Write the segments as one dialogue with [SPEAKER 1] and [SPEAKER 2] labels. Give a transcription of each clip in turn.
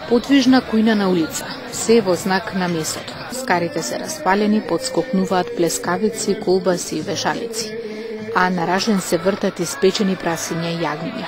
[SPEAKER 1] Подвижна кујна улица, се во знак на месото. Скарите се распалени, подскокнуваат плескавици, колбаси и вешалици, а на ражен се вртат испечени прасиња и јагниња.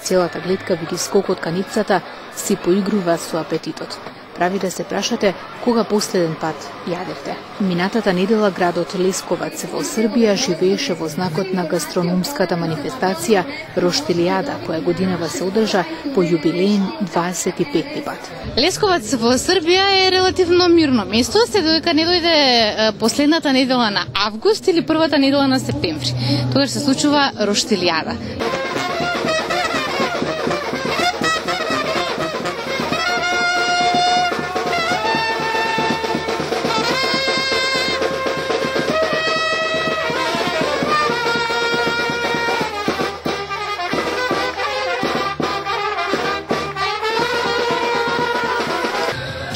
[SPEAKER 1] Целата гледка види скокот каницата си поигрува со апетитот. Прави да се прашате кога последен пат јадевте. Минатата недела градот Лесковац во Србија живееше во знакот на гастрономската манифестација Роштилијада, која годинава се одржа по јубилеен 25 пат.
[SPEAKER 2] Лесковац во Србија е релативно мирно место, се додека не дојде последната недела на август или првата недела на септември. Тогаш се случува Роштилијада.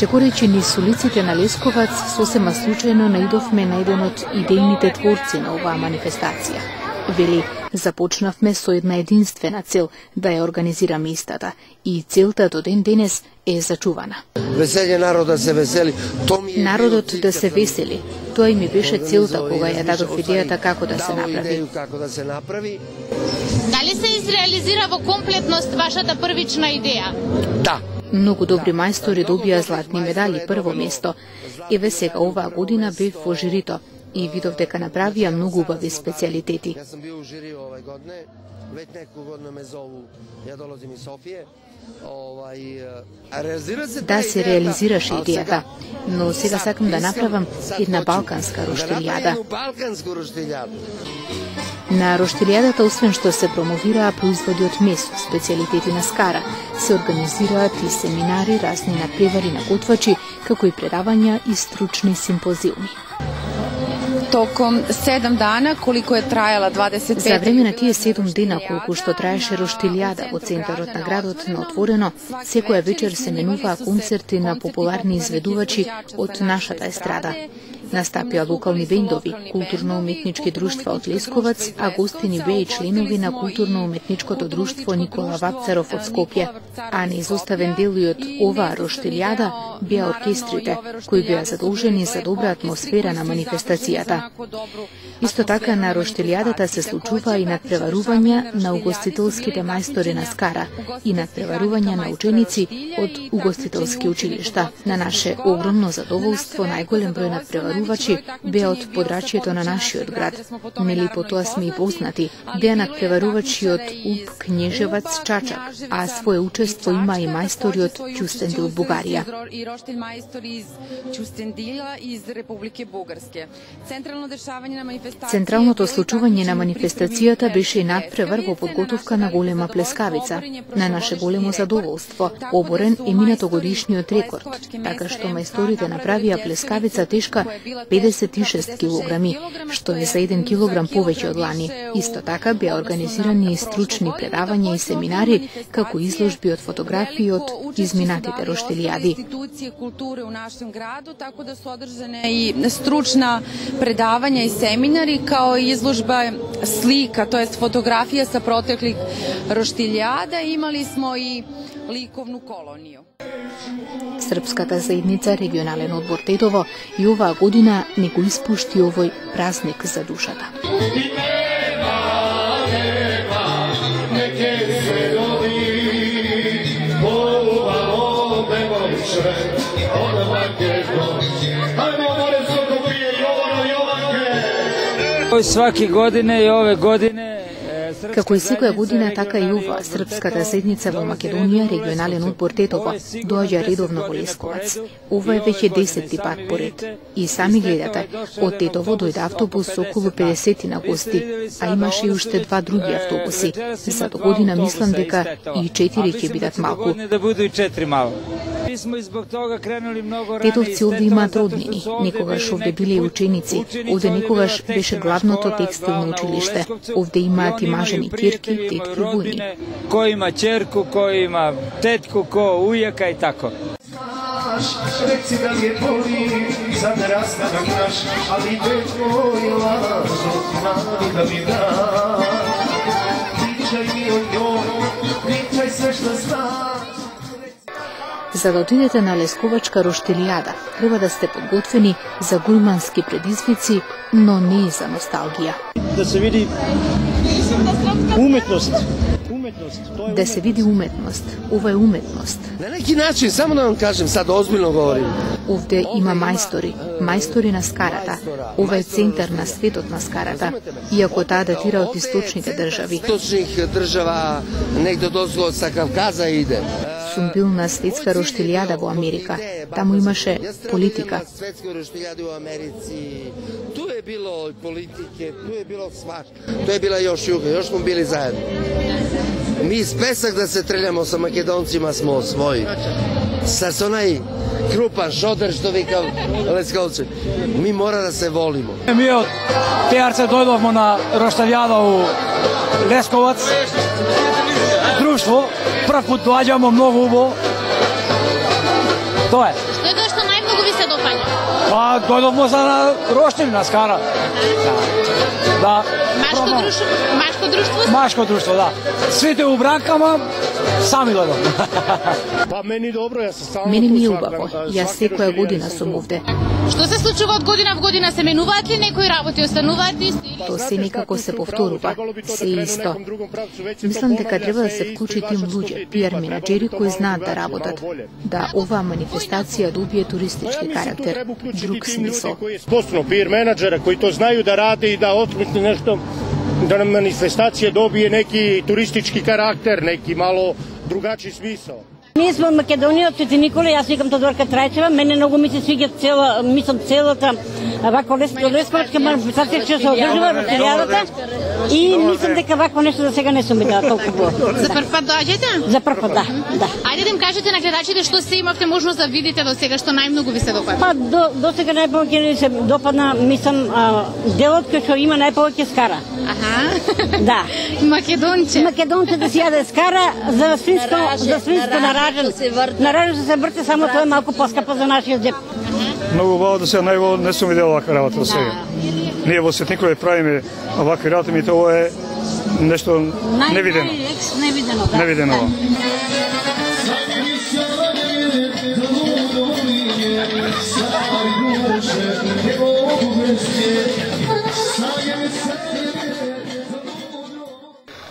[SPEAKER 1] Чекорејќи низ улиците на Лесковац, сосема случајно наидовме на еден од идејните творци на оваа манифестација. Вели, започнавме со една единствена цел да ја организираме истата и целта до ден денес е зачувана.
[SPEAKER 3] Веселје народот се весели.
[SPEAKER 1] Народот да се весели. Тоа и ми беше целта кога ја дадов идејата како да се направи.
[SPEAKER 2] Дали се изреализира во комплетност вашата првична идеја?
[SPEAKER 3] Да.
[SPEAKER 1] Многу добри мајстори добија златни медали прво место. Еве сега оваа година бев во жирито и видов дека направија многу убави специјалитети.
[SPEAKER 3] Јас сум бил у жири овај године, веќе неколку години ме зову, ја долазим из Софија.
[SPEAKER 1] Да, се реализираше идејата, но сега сакам да направам една балканска роштилијада. На роштилијадата, освен што се промовираа производи од месо, специјалитети на Скара, се организираат и семинари, разни надпревари на готвачи, како и предавања и стручни симпозиуми.
[SPEAKER 4] Током 7 дана, колико е трајала 25...
[SPEAKER 1] За време на тие 7 дена, колку што траеше роштилијада во центарот на градот на отворено, секоја вечер се менуваа концерти на популарни изведувачи од нашата естрада. Настапија локални бендови, културно-уметнички друштва од Лесковац, а гостини беа и членови на културно-уметничкото друштво Никола Вапцаров од Скопје. А неизоставен дел и од оваа роштилијада беа оркестрите, кои беа задолжени за добра атмосфера на манифестацијата. Исто така на роштилијадата се случува и надпреварувања на угостителските мајстори на Скара и надпреварувања на ученици од угостителски училишта. На наше огромно задоволство, најголем број надпреварувачи беа од подрачјето на нашиот град. Нели по тоа сме и познати. Беа надпреварувачи од УП Кнежевац Чачак, а свое учество има и мајстори од Ќустендил, Бугарија. Централното случување на манифестацијата беше и надпревар во подготовка на голема плескавица. На наше големо задоволство, оборен е минатогодишниот рекорд, така што мајсторите направија плескавица тешка 56 килограми, што е за 1 килограм повеќе од лани. Исто така беа организирани и стручни предавања и семинари, како изложби од фотографии од изминатите роштилијади.
[SPEAKER 4] Културе у нашем граду, тако да се одржане и стручна предавања и семинари, као и изложба слика, то jest фотографија са протеклих роштилијада. Имали смо и ликовну колонiju.
[SPEAKER 1] Српската заедница регионален одбор Тетово и оваа година не го испушти овој празник за душата.
[SPEAKER 5] Сваки године и ове године
[SPEAKER 1] Како и секоја година, така и ова, Српската заедница во Македонија, регионален одбор Тетово, доаѓа редовно во Лесковац. Ова е веќе 10-ти пат поред. И сами гледате, од Тетово дојде автобус со околу 50 на гости, а имаше и уште 2 други автобуси. За до година мислам дека и 4 ќе бидат малку. Тетовци овде имаат роднини, некогаш овде биле и ученици, овде некогаш беше главното текстилно училиште, овде имаат и мажени ќерки, тетки, вујни.
[SPEAKER 5] Кој има ќерку, кој има тетку, кој ујака и тако.
[SPEAKER 6] Реци да ли е боли за да растанам наш, али те твој лажот мали да ми да. Причај ми о њој, причај се што знаеш.
[SPEAKER 1] За да отидете на Лесковачка роштилијада, треба да сте подготвени за гурмански предизвици, но не и за носталгија.
[SPEAKER 7] Да се види уметност.
[SPEAKER 1] Да се види уметност. Ова е уметност.
[SPEAKER 3] На неки начин, само да вам кажем, сад озбилно говорим.
[SPEAKER 1] Овде има мајстори на скарата. Ова е центар на светот на скарата, иако таа датира од источните држави.
[SPEAKER 3] Источних држава, негде дозго са Кавказа иде.
[SPEAKER 1] Сум бил на светска роштилијада во Америка. Таму имаше политика.
[SPEAKER 3] Светска роштилијада во Америци. Ту е било политике, ту е било свашто. Ту е била још југа, још смо били заедно. Mi spesak da se treljamo sa Makedoncima smo svoji. Sa onaj krupan šoder što vika Leskovci. Mi mora da se volimo.
[SPEAKER 5] Mi od Tejarce dojdovmo na roštaljada u Leskovac. Društvo, prvi put dođamo, mnogo ubo. To je.
[SPEAKER 2] Што е тоа што најмногу ви се допаѓа?
[SPEAKER 5] Pa dojdovmo za roštilj na skara. Da.
[SPEAKER 2] Машко друштво?
[SPEAKER 5] Машко друштво, да. Сите у бракама, сами дојдов.
[SPEAKER 7] Па мени добро, јас стално
[SPEAKER 1] Мене ми е убаво. Јас секоја година сум овде.
[SPEAKER 2] Што се случува од година в година? Се менуваат ли некои работи, остануваат исти?
[SPEAKER 1] То се некако се повторува, се исто. Мислам дека треба да се вклучи тим луѓе, пиар менаџери кои знаат да работат, да оваа манифестација добие туристички карактер, друг смисол.
[SPEAKER 7] Постојано пиар менаџера кои то знају да ради и да отмисли нешто, да на манифестација добие неки туристички карактер, неки мало другачи смисол.
[SPEAKER 8] Ние сме од Македонија, од Свети Никола, јас викам Тодорка Трајчева, мене многу ми се свиѓа целата вако лесковачка манифестација што се одржува во роштилијадата и мислам дека вакво нешто за сега не сум видела толку убаво.
[SPEAKER 2] За прв пат доаѓате?
[SPEAKER 8] За прв пат, да.
[SPEAKER 2] Ајде да им кажете на гледачите што се имавте можност да видите до сега, што најмногу ви се допадна.
[SPEAKER 8] Па до сега најповеќе ми се допадна, мислам, делот кој што има најповеќе скара.
[SPEAKER 2] Аха.
[SPEAKER 8] Да.
[SPEAKER 2] Македонче.
[SPEAKER 8] Македонче да си јаде скара за свинско наражен. Наражен се врте, само тоа е малку поскапо за нашиот джеп.
[SPEAKER 9] Многу убаво да се најво не сум видел вака работа до сега. Ние во Свети Никола правиме вакви работи, ми тоа е нешто невидено. Невидено.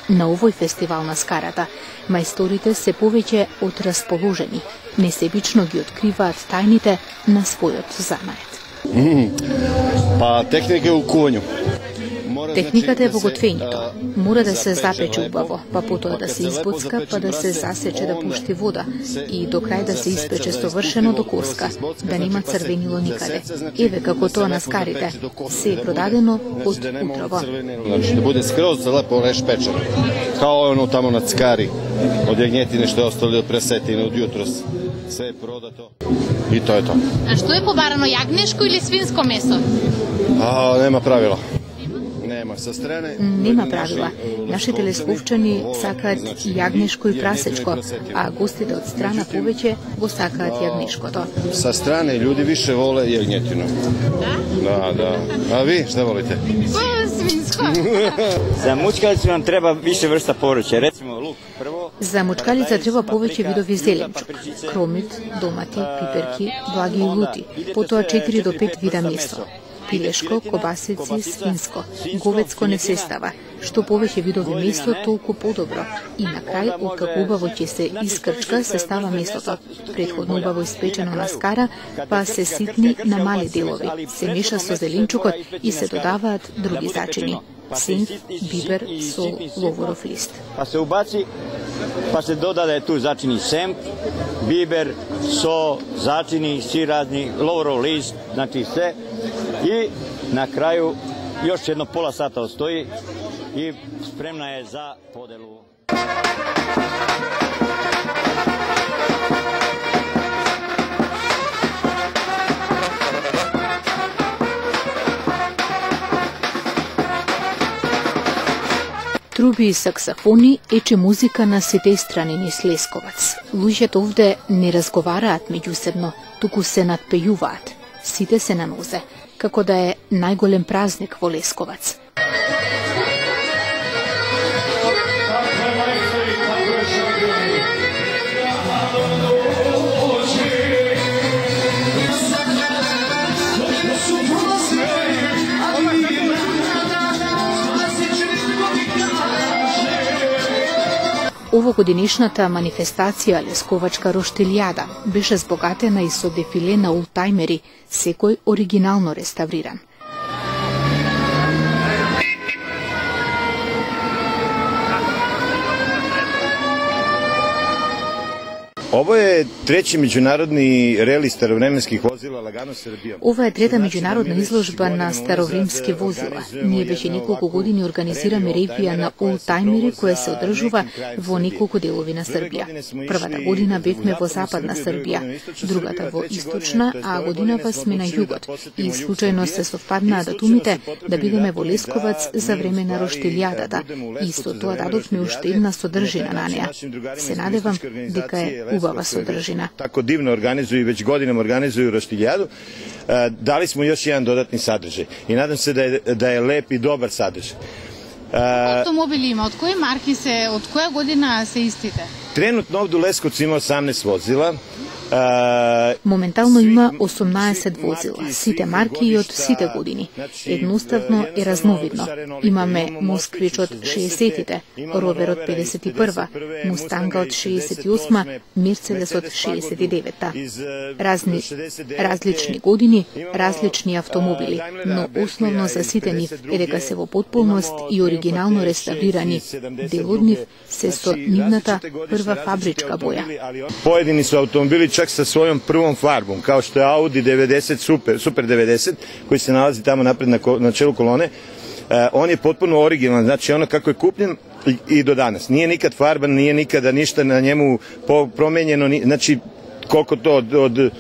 [SPEAKER 1] На овој фестивал на скарата, мајсторите се повеќе од расположени, несебично ги откриваат тајните на својот занает.
[SPEAKER 10] Па техника е у кувању.
[SPEAKER 1] Техниката е во готвењето. Мора да се запече убаво, па потоа да се избоцка, па да се засече да пушти вода и до крај да се испече совршено до коска, да нема црвенило никаде. Еве како тоа на скарите. Се е продадено од утрово.
[SPEAKER 10] Значи да буде скроз лепо решпечено. Као оно тамо на цкари, од јагњетине што е остали од пресетине од јутрос. Се е продато. И тоа е тоа.
[SPEAKER 2] А што е побарано, јагнешко или свинско месо?
[SPEAKER 10] Нема правила.
[SPEAKER 1] Нема правила. Нашите лесковчани сакаат јагнешко и прасечко, а гостите од страна повеќе го сакаат јагнешкото.
[SPEAKER 10] Са стране луѓе више воле јагњетино. Да. А ви што волите?
[SPEAKER 2] Свинско.
[SPEAKER 11] За мучкалица нам треба више врста поруче, рецимо лук прво.
[SPEAKER 1] За мучкалица треба повеќе видови зеленчук, кромит, домати, пиперки, благи и лути, потоа 4 до 5 вида месо. Пилешко, кобасици, свинско, говецко не се става. Што повеќе видови месо, толку подобро. И на крај, откако убаво ќе се искрчка, се става месото. Претходно убаво испечено на скара, па се ситни на мали делови. Се меша со зеленчукот и се додаваат други зачини. Синф, бибер, сол, ловоров лист.
[SPEAKER 11] Па се убаци, па се додаде ту зачини семп, бибер, со, зачини, сиразни, ловоров лист, значи се. И на крају још едно пола сата остои и спремна е за поделу.
[SPEAKER 1] Труби и саксофони ече музика на сите страни низ Лесковац. Луѓето овде не разговараат меѓусебно, туку се надпејуваат. Сите се на нозе, како да е најголем празник во Лесковац. Овогодинешната манифестација Лесковачка роштилјада беше збогатена и со дефиле на олтајмери, секој оригинално реставриран.
[SPEAKER 10] Ovo je treći međunarodni reli starovremenskih vozila Lagano Srbija.
[SPEAKER 1] Ова е трета меѓународна изложба на старовримски возила. Ние веќе неколку години организираме ревија на олтајмери која се одржува во неколку делови на Србија. Првата година бевме во западна Србија, другата во источна, а годинава сме на југот. И случајно се совпаднаа датумите да бидеме во Лесковац за време на роштилјадата. И со тоа дадовме уште една содржина на неа. Се надевам дека е убава содржина.
[SPEAKER 10] Тако дивно организуju i već godinama organizuju roštiljadu. Dali smo još jedan dodatni sadržaj i nadam se da je lep i dobar sadržaj.
[SPEAKER 2] Автомобили има, од кои марки се, од која година се истите?
[SPEAKER 10] Trenutno ovde u Leskovcu ima 18 vozila.
[SPEAKER 1] Моментално има 18 возила, сите марки и од сите години. Едноставно е разновидно. Имаме Москвич од 60-тите, Ровер од 51-ва, Мустанга од 68-ма, Мерцедес од 69-та. Различни години, различни автомобили, но основно за сите нив е дека се во потполност и оригинално реставрирани. Дел од нив се со нивната прва фабричка боја.
[SPEAKER 10] Поjedini su automobili čak sa svojom prvom farbom, kao što je Audi 90 Super 90, koji se nalazi tamo napred na čelu kolone. On je potpuno originalan, znači ono kako je kupljen i do danas. Nije nikad farban, nije nikada ništa na njemu promenjeno, znači koliko to od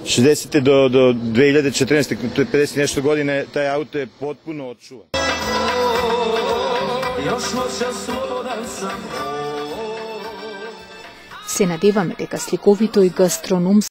[SPEAKER 10] 60. do 2014. to je 50 nešto godine, taj auto je potpuno odčuvan.
[SPEAKER 1] Се надеваме дека сликовито и гастрономско